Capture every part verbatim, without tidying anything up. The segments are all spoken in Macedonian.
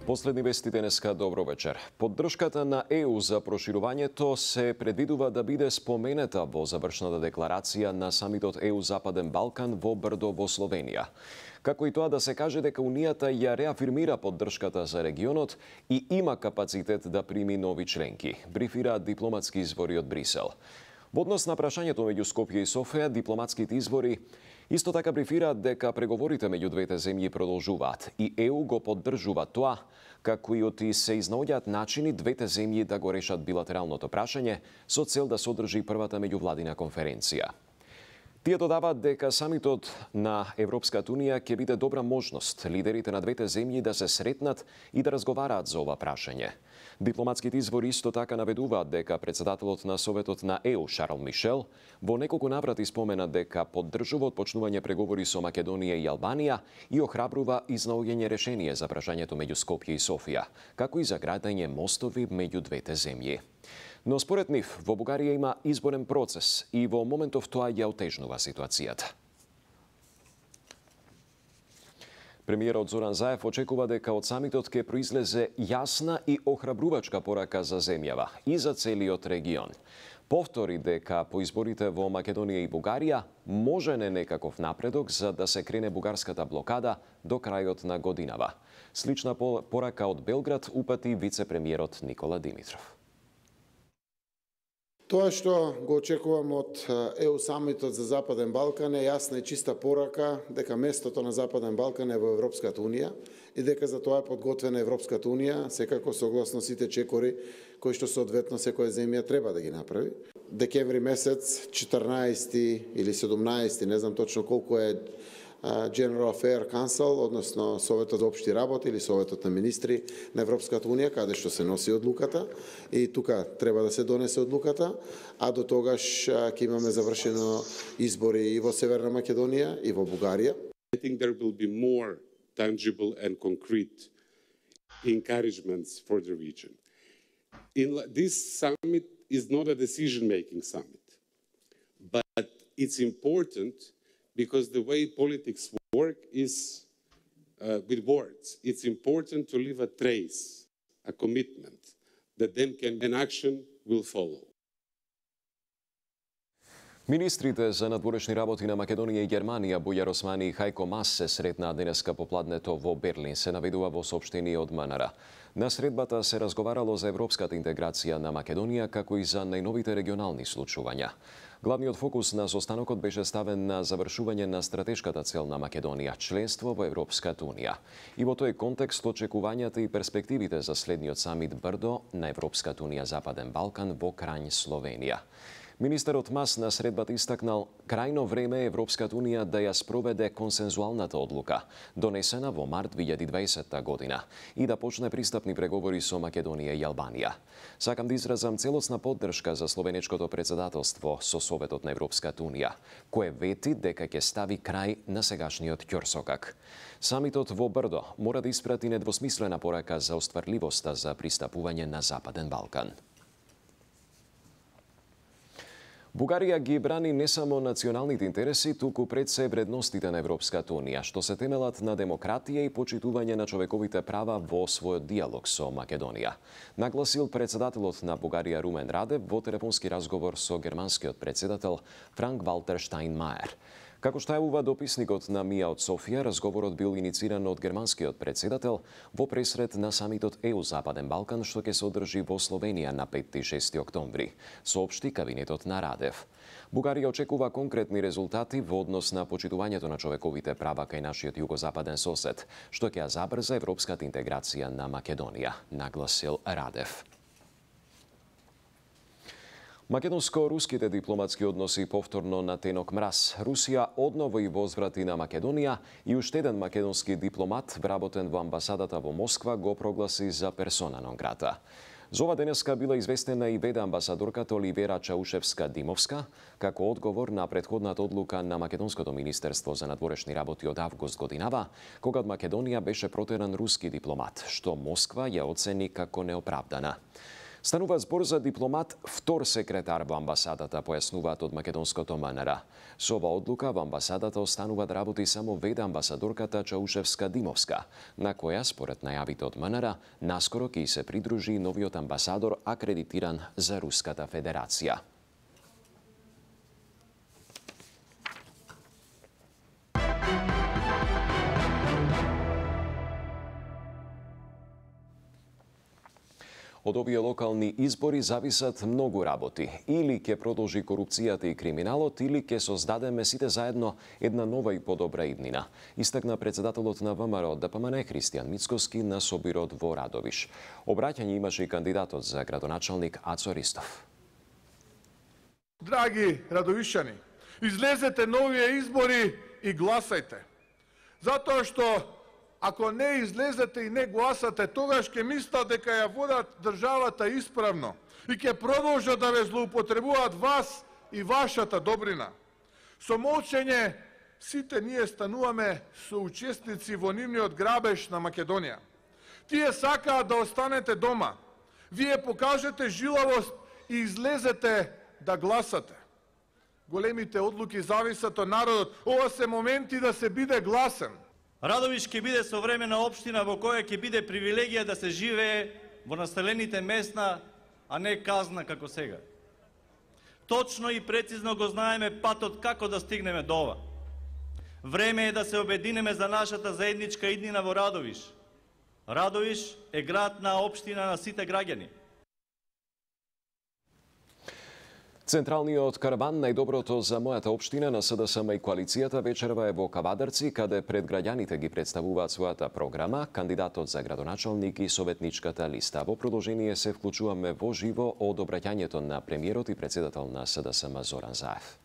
Последни вести денеска, добро вечер. Поддршката на Е У за проширувањето се предвидува да биде спомената во завршната декларација на самитот Е У Западен Балкан во Брдо во Словенија. Како и тоа да се каже дека Унијата ја реафирмира поддршката за регионот и има капацитет да прими нови членки, брифираат дипломатски извори од Брисел. Во однос на прашањето меѓу Скопје и Софија, дипломатските извори исто така брифираат дека преговорите меѓу двете земји продолжуваат и Е У го поддржува тоа, како и оти се изнаоѓаат начини двете земји да го решат билатералното прашање со цел да се одржи првата меѓувладина конференција. Тие додаваат дека самитот на Европската Унија ќе биде добра можност лидерите на двете земји да се сретнат и да разговараат за ова прашање. Дипломатските извори исто така наведуваат дека председателот на Советот на Е У Шарл Мишел во неколку наврати спомена дека поддржува отпочнување преговори со Македонија и Албанија и охрабрува изнаоѓање решение за прашањето меѓу Скопје и Софија, како и за градење мостови меѓу двете земји. Но според нив, во Бугарија има изборен процес и во моментов тоа ја отежнува ситуацијата. Премиерот Зоран Заев очекува дека од самитот ќе произлезе јасна и охрабрувачка порака за земјава и за целиот регион. Повтори дека по изборите во Македонија и Бугарија може не некаков напредок за да се крене бугарската блокада до крајот на годинава. Слична порака од Белград упати вице-премиерот Никола Димитров. Тоа што го очекувам од Е У самитот за Западен Балкан е јасна и чиста порака дека местото на Западен Балкан е во Европската Унија и дека за тоа е подготвена Европската Унија, секако согласно сите чекори кои што соодветно секоја земја треба да ги направи. Декември месец, четрнаесети или седумнаесети, не знам точно колку е General Affairs Council, односно Советот за општи работи или Советот на министри на Европската Унија, каде што се носи одлуката и тука треба да се донесе одлуката, а до тогаш ќе имаме завршено избори и во Северна Македонија и во Бугарија. I think there will be more tangible and concrete encouragements for the region. In this summit is not a decision-making summit, but it's important because the way politics work is uh, with words. It's important to leave a trace, a commitment, that then can, an action will follow. Министрите за надворешни работи на Македонија и Германија Бујар Османи и Хајко Мас се сретнаа денеска попладнето во Берлин, се наведува во соопштение од М Н Р. На средбата се разговарало за европската интеграција на Македонија, како и за најновите регионални случувања. Главниот фокус на состанокот беше ставен на завршување на стратешката цел на Македонија, членство во Европската Унија. И во тој контекст очекувањата и перспективите за следниот самит Брдо на Европската Унија Западен Балкан во Крањ, Словенија. Министерот Мас на средбата истакнал крајно време Европската Унија да ја спроведе консензуалната одлука, донесена во март две илјади и дваесетта година, и да почне пристапни преговори со Македонија и Албанија. Сакам да изразам целосна поддршка за словенечкото председателство со Советот на Европската Унија, кое вети дека ќе стави крај на сегашниот ќорсокак. Самитот во Брдо мора да испрати недвосмислена порака за остварливоста за пристапување на Западен Балкан. Бугарија ги брани не само националните интереси, туку пред се вредностите на Европската Унија, што се темелат на демократија и почитување на човековите права во својот диалог со Македонија. Нагласил председателот на Бугарија Румен Радев во телефонски разговор со германскиот председател Франк Валтер Штајнмајер. Како што јавува дописникот на МИА од Софија, разговорот бил инициран од германскиот председател во пресред на самитот Е У Западен Балкан, што ќе се одржи во Словенија на петти и шести октомври, соопшти кабинетот на Радев. Бугарија очекува конкретни резултати во однос на почитувањето на човековите права кај нашиот југозападен сосед, што ќе ја забрза европската интеграција на Македонија, нагласил Радев. Македонско-руските дипломатски односи повторно на тенок мраз. Русија одново и возврати на Македонија и уште еден македонски дипломат, вработен во амбасадата во Москва, го прогласи за персона нон грата. За ова денеска била известена и веде амбасадорката Оливера Чаушевска-Димовска, како одговор на претходната одлука на Македонското министерство за надворешни работи од август годинава, кога од Македонија беше протеран руски дипломат, што Москва ја оцени како неоправдана. Станува збор за дипломат втор секретар во амбасадата, појаснуваат од македонското МНР. Со ова одлука во амбасадата останува да работи само веде амбасадорката Чаушевска-Димовска, на која, според најавите од МНР, наскоро ќе се придружи новиот амбасадор акредитиран за Руската Федерација. Од овие локални избори зависат многу работи. Или ќе продолжи корупцијата и криминалот, или ќе создадеме сите заедно една нова и подобра иднина, истакна председателот на ВМРО ДПМН Христијан Мицкоски на собирот во Радовиш. Обраќање имаше и кандидатот за градоначалник Ацо Ристов. Драги радовишани, излезете на овие избори и гласајте. Затоа што ако не излезете и не гласате, тогаш ќе мислат дека ја водат државата исправно и ќе продолжат да ве злоупотребуваат вас и вашата добрина. Со молчење сите ние стануваме соучесници во нивниот грабеж на Македонија. Тие сакаат да останете дома. Вие покажете жилавост и излезете да гласате. Големите одлуки зависат од народот. Ова се моменти да се биде гласен. Радовиш ќе биде современа општина во која ќе биде привилегија да се живее во населените места, а не казна како сега. Точно и прецизно го знаеме патот како да стигнеме до ова. Време е да се обединеме за нашата заедничка иднина во Радовиш. Радовиш е градна општина на сите граѓани. Централниот караван најдоброто за мојата општина на СДСМ и коалицијата вечерва е во Кавадарци, каде пред граѓаните ги представуваат својата програма, кандидатот за градоначалник и советничката листа. Во продолжение се вклучуваме во живо од обраќањето на премиерот и председател на СДСМ Зоран Заев.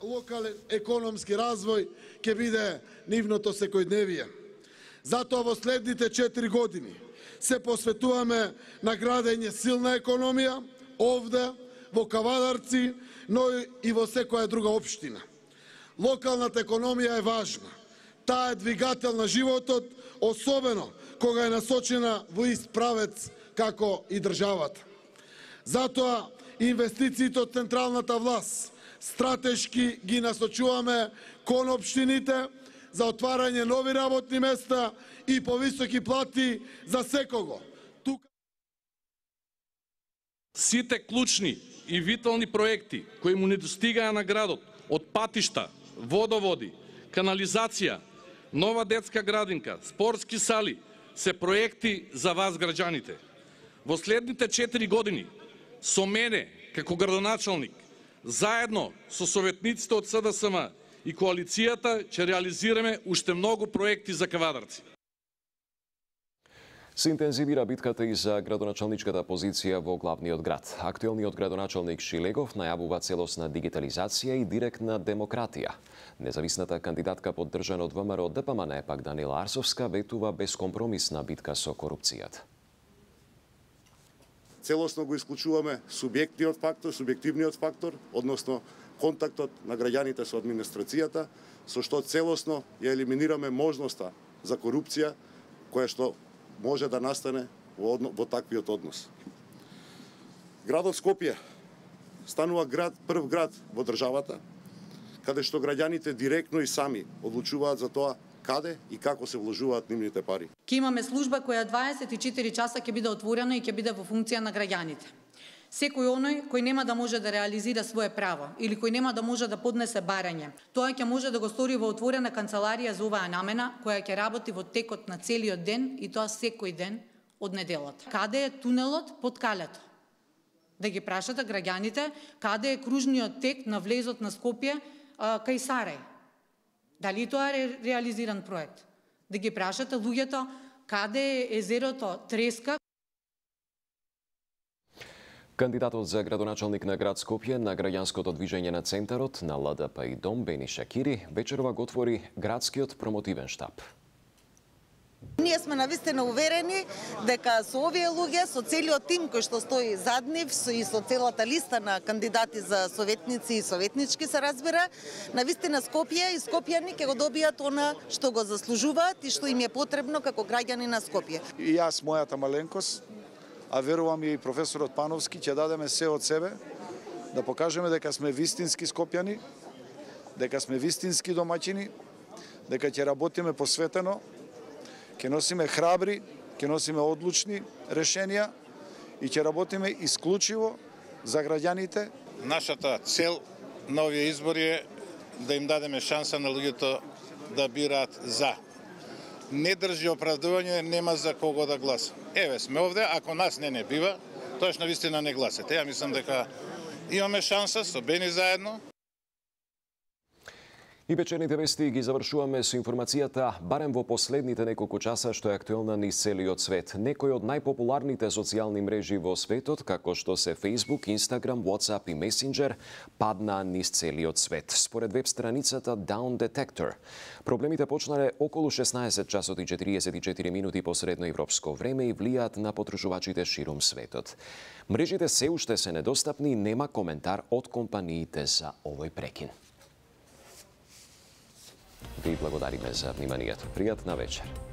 Локален економски развој ќе биде нивното секојдневие. Затоа во следните четири години се посветуваме на градење силна економија овде во Кавадарци, но и во секоја друга општина. Локалната економија е важна. Таа е двигател на животот, особено кога е насочена во ист правец како и државата. Затоа инвестициите од централната власт стратешки ги насочуваме кон општините за отварање нови работни места и повисоки плати за секого. Тука сите клучни и витални проекти кои му недостигаа на градот, од патишта, водоводи, канализација, нова детска градинка, спортски сали, се проекти за вас граѓаните. Во следните четири години, со мене, како градоначалник, заедно со советниците од СДСМ и коалицијата, ќе реализираме уште многу проекти за Кавадарци. Се интензивира битката и за градоначалничката позиција во главниот град. Актуелниот градоначалник Шилегов најавува целосна дигитализација и директна демократија. Независната кандидатка поддржана од ВМРО ДПМН пак Данила Арсовска ветува безкомпромисна битка со корупцијата. Целосно го исклучуваме субјектниот фактор, субјективниот фактор, односно контактот на граѓаните со администрацијата, со што целосно ја елиминираме можноста за корупција која што може да настане во, одно, во таквиот однос. Градот Скопје станува град, прв град во државата, каде што граѓаните директно и сами одлучуваат за тоа каде и како се вложуваат нивните пари. Ке имаме служба која дваесет и четири часа ќе биде отворена и ќе биде во функција на граѓаните. Секој оној кој нема да може да реализира свое право или кој нема да може да поднесе барање, тоа ќе може да го стори во отворена канцеларија за оваа намена, која ќе работи во текот на целиот ден и тоа секој ден од неделата. Каде е тунелот под Калето? Да ги прашате граѓаните каде е кружниот тек на влезот на Скопје а, кај Сарај. Дали тоа е реализиран проект? Да ги прашате луѓето каде е езерото Треска. Кандидатот за градоначалник на град Скопје на граѓанското движење на Центарот на Л Д П и Дом Бени Шакири вечерва го отвори градскиот промотивен штаб. Ние сме навистина уверени дека со овие луѓе, со целиот тим кој што стои зад нив и со целата листа на кандидати за советници и советнички се разбира, навистина Скопје и скопјани ќе го добијат она што го заслужуваат и што им е потребно како граѓани на Скопје. И јас, мојата маленкост, а верувам и професорот Пановски, ќе дадеме се од себе да покажеме дека сме вистински скопјани, дека сме вистински домаќини, дека ќе работиме посветено, ќе носиме храбри, ќе носиме одлучни решенија и ќе работиме исклучиво за граѓаните. Нашата цел на овие избори е да им дадеме шанса на луѓето да бираат за. Не држи оправдување, нема за кого да гласа. Еве сме овде, ако нас не не бива, тоаш на вистина не гласате. Ја мислам дека имаме шанса, собени заедно. И вечерните вести ги завршуваме со информацијата барем во последните неколку часа што е актуелна низ целиот свет. Некои од најпопуларните социјални мрежи во светот, како што се Facebook, Instagram, WhatsApp и Messenger, паднаа низ целиот свет. Според веб страницата Down Detector, проблемите почнале околу шеснаесет часот и четириесет и четири минути по средноевропско време и влијаат на потребувачите ширум светот. Мрежите се уште се недостапни и нема коментар од компаниите за овој прекин. Ви благодариме за вниманието. Пријатна вечер.